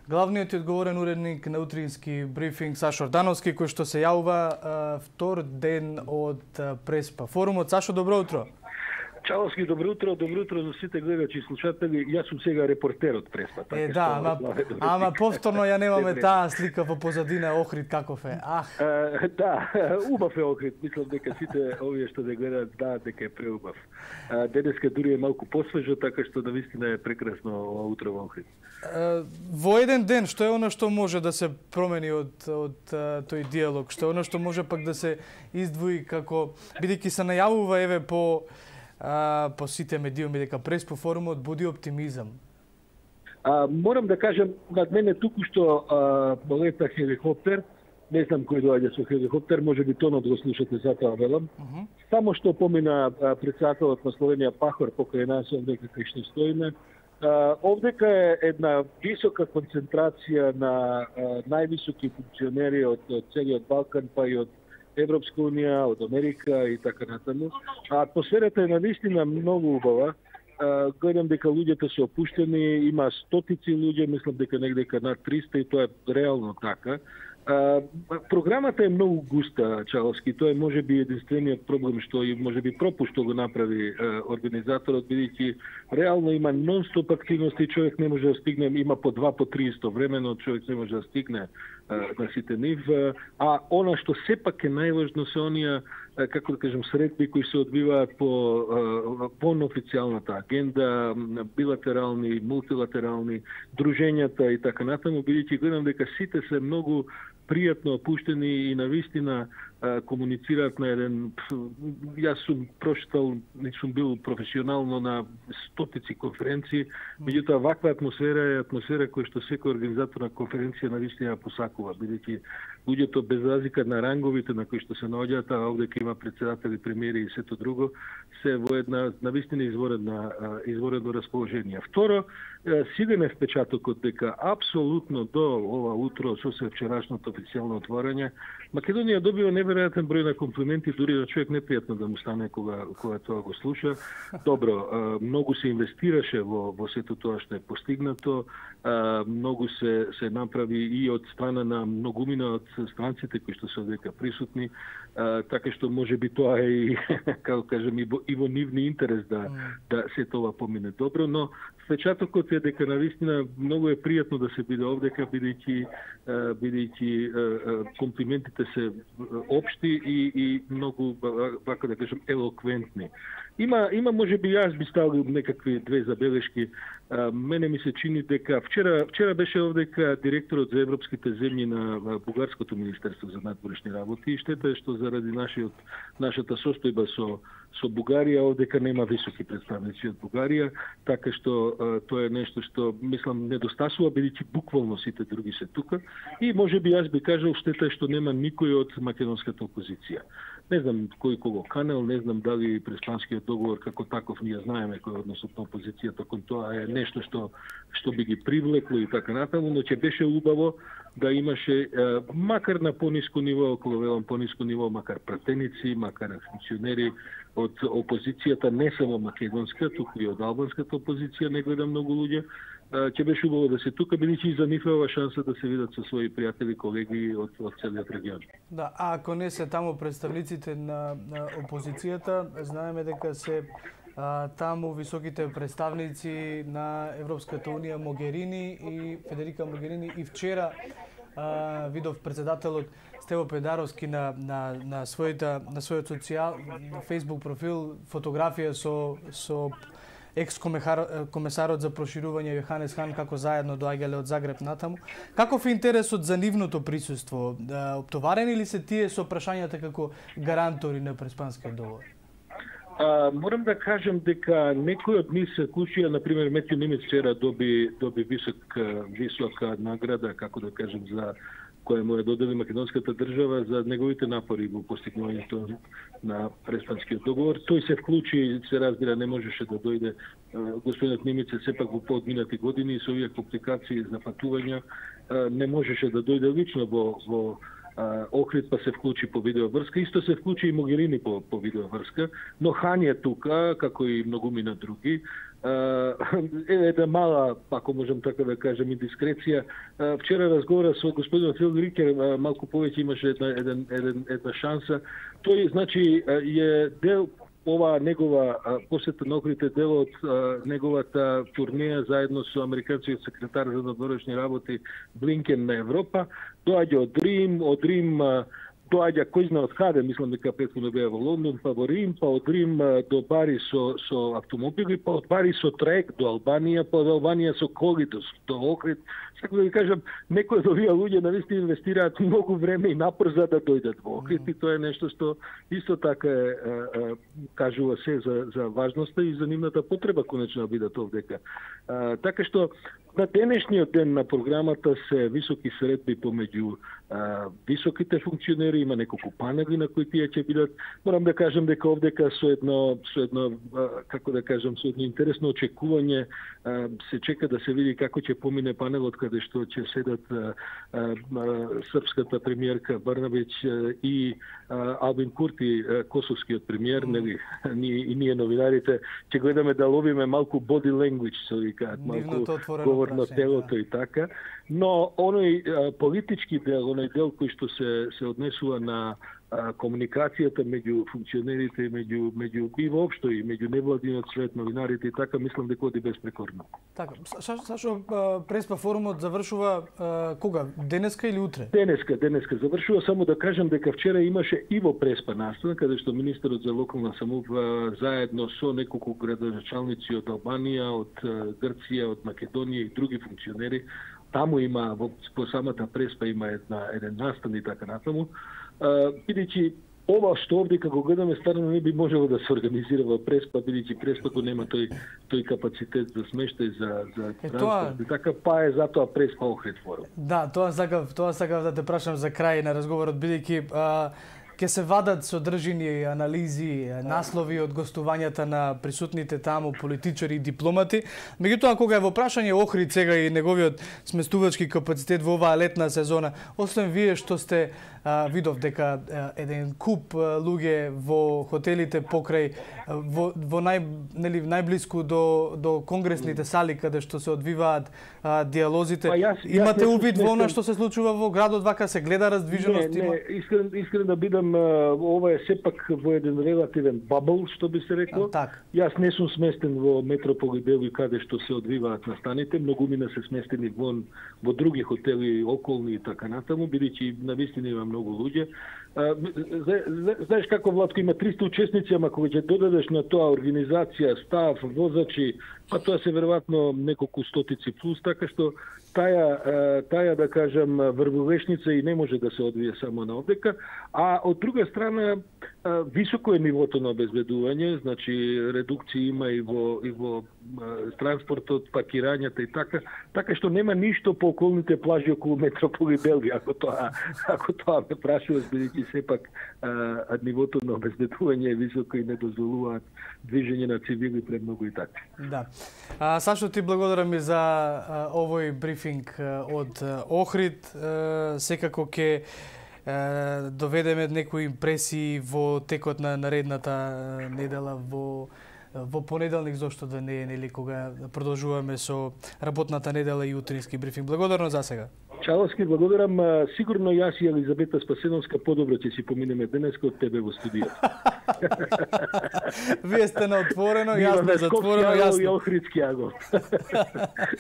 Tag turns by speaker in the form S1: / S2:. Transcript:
S1: Главниот и одговорен уредник на утрински брифинг Сашо Ордановски, кој што се јавува втор ден од Преспа форумот. Сашо, добро утро.
S2: Чаловски, добро утро за сите гледачи и слушатели. Јас сум сега репортер од Преспа.
S1: Ама повторно ја немаме таа слика во позадина Охрид каков е.
S2: Да, убав е Охрид. Мислам дека сите овие што да гледаат знаат дека е преубав. Денеска дури е малку посвежо, така што навистина е прекрасно ова утро во Охрид.
S1: Во еден ден, што е она што може да се промени од тој диалог? Што е она што може пак да се издвои како, бидејќи се најавува еве по сите медиуми дека Преспа форумот буди оптимизам?
S2: Морам да кажам, над мене туку што полета хеликоптер, не знам кој доаѓа со хеликоптер, може би тонот го слушате, затоа велам. Само што помина председателот на Словенија Пахор покрај нас, овдека кај што стоиме, овдека е една висока концентрација на највисоки функционери од целиот Балкан, па и од Европска унија, од Америка и така натаму. Атмосферата е навистина многу убава. Гледам дека луѓето се опуштени, има стотици луѓе, мислам дека негде над 300 и тоа е реално така. Програмата е многу густа, Чаловски. Тоа е можеби единствениот проблем што и можеби пропуст што го направи организаторот, бидејќи реално има нон-стоп активности, човек не може да стигне, има по 2 по 3 истовремено, човек не може да стигне на сите нив. А она што сепак е најважно се оние, како да кажем, средби кои се одбиваат по неофицијалната агенда, билатерални, мултилатерални, дружењата и така натаму, бидејќи гледам дека сите се многу пријатно опуштени и навистина комуницираат на еден... Јас сум прочитал, не сум бил професионално на стотици конференции, меѓутоа ваква атмосфера е атмосфера која што секој организатор на конференција навистина посакува, бидејќи луѓето без разлика на ранговите на кои што се наоѓаат, а овде има председатели, премиери и сето друго, се во една навистина изворено расположение. Второ, силен е впечатокот дека апсолутно до ова утро со вчерашното официјално отворање, Македонија добива неверојатен број на комплименти, дури да човек непријатно да му стане кога тоа го слуша. Добро, многу се инвестираше во сето тоа што е постигнато, многу се направи и од страна на многумина од странците кои што се одека присутни, така што можеби тоа е и, како кажем, и во нивни интерес да се тоа помине добро, но впечатокот е дека навистина многу е пријатно да се биде овдека, бидејќи комплиментите се општи и многу, вака да кажем, елоквентни. Има можеби јас би ставил некакви две забелешки. Мене ми се чини дека вчера беше овдека директорот за европските земји на Бугарското министерство за надворешни работи и штета е што заради нашата состојба со Бугарија овдека нема високи представници од Бугарија, така што тоа е нешто што мислам недостасува, бидејќи буквално сите други се тука и можеби јас би кажал штета е што нема никој од македонската опозиција. Не знам кој кого канел, не знам дали преспанскиот договор како таков ние знаеме кој односот на опозицијата кон тоа е нешто што би ги привлекло и така натаму, но ќе беше убаво да имаше макар на пониско ниво, околу велам пониско ниво, макар пратеници, макар функционери од опозицијата, не само македонска, туку и од албанската опозиција, не гледам многу луѓе, ќе беше убаво да се тука, бидејќи за нив е ова шанса да се видат со своји пријатели, колеги од целиот регион.
S1: Да, а ако не се таму представниците на опозицијата, знаеме дека се таму високите представници на Европската унија Могерини и Федерика Могерини и вчера видов председателот Стево Педаровски на својот Facebook профил фотографија со екс-комесарот за проширување Јоханес Хан како заедно доаѓале од Загреб натаму. Каков е интересот за нивното присуство? Оптоварени ли се тие со прашањата како гарантори на Преспанскиот договор?
S2: Морам да кажам дека некои од нив се клучија, например Метју Немец вчера доби висока награда, како да кажем, за која му ја додели македонската држава за неговите напори во постигнувањето на Преспанскиот договор. Тој се вклучи, се разбира, не можеше да дојде. Господинот Немец е сепак во поодминати години и со овие компликации за патувања не можеше да дојде лично во Охрид па се вклучи по видеоврска, исто се вклучи и Могерини по видеоврска, но Хање тука, како и многумина други. Една мала, ако можам така да кажем, индискреција. Вчера разговара со господин Фил Рикер, малку повеќе имаше една шанса. Тој, значи, е дел ова негова посета на Охрид е дел од неговата турнеја заедно со американскиот секретар за надворешни работи Блинкен на Европа. Доаѓа од Рим, доаѓа кој знае од каде, мислам дека претходно беа во Лондон, па во Рим, па од Рим до Бари со автомобили, па од Бари со трек до Албанија, па од Албанија со коли до Охрид. Сакам да ви кажам, некои од овие луѓе навистина инвестираат многу време и напор за да дојдат во Охрид и тоа е нешто што исто така кажува се за важноста и за нивната потреба конечно да бидат овдека. Така што на денешниот ден на програмата се високи средби помеѓу високите функционери, има неколку панели на кои тие ќе бидат. Морам да кажам дека овдека со едно како да кажам, со едно интересно очекување се чека да се види како ќе помине панелот каде што ќе седат српската премиерка Брнабич и Албин Курти, косовскиот премиер, нели, и ние новинарите ќе гледаме да ловиме малку body language, со викаат, малку говор на телото и така, но оној политички дел, оној дел кој што се однесува на комуникацијата меѓу функционерите и меѓу и воопшто и меѓу невладиниот свет, новинарите и така, мислам дека оди безпрекорно.
S1: Така, Сашо, преспа форумот завршува кога? Денеска или утре? Денеска
S2: завршува, само да кажам дека вчера имаше и во преспа настан, каде што министерот за локална самоуправа заедно со неколку градоначалници од Албанија, од Грција, од Македонија и други функционери, таму има по самата преспа има еден настан и така натаму. Бидејќи ова што овде како гледаме стварно не би можело да се организира во преспа, бидејќи преспато нема тој капацитет за смештај за транспорт. Така па е затоа преспа Охрид форум.
S1: Да, тоа сакав да те прашам за крај на разговорот, бидејќи ќе се вадат содржини, анализи, наслови од гостувањата на присутните таму политичари и дипломати. Меѓутоа, кога е во прашање Охрид сега и неговиот сместувачки капацитет во оваа летна сезона, освен вие што сте видов дека еден куп луѓе во хотелите покрај во најблиску до конгресните сали каде што се одвиваат диалозите. Имате увид во она што се случува во градот, вака се гледа раздвиженост?
S2: Не, искрен да бидам, ова е сепак во еден релативен бабл, што би се рекло. Јас не сум сместен во Метропол и Белој каде што се одвиваат настаните, многумина се сместени во други хотели околни и така натаму, бидејќи навистина има многу луѓе. Знаеш како, Владко, има 300 учесници, ама кога ќе додадеш на тоа организација, став, возачи, па тоа се веројатно неколку стотици плюс, така што таа да кажам врвовешница и не може да се одвие само на овдека, а од друга страна високо е нивото на обезбедување, значи редукција има и во транспортот, паркирањата и така што нема ништо по околните плажи околу Метропол и Белгија, ако тоа ме прашуваш, бидејќи сепак нивото на обезбедување е високо и не дозволуваат движење на цивили премногу и така.
S1: Да. Сашо, ти благодарам и за овој брифинг од Охрид. Секако ќе доведеме некои импресии во текот на наредната недела во понеделник, зошто да не е, нели, кога продолжуваме со работната недела и утрински брифинг. Благодарно за сега.
S2: Чаловски, благодарам. Сигурно јас и Елизабета Спасеновска подобро ќе си поминеме денеска од тебе во студијата.
S1: Вие сте на отворено, јас на затворено, јасно.
S2: И Охридски агот.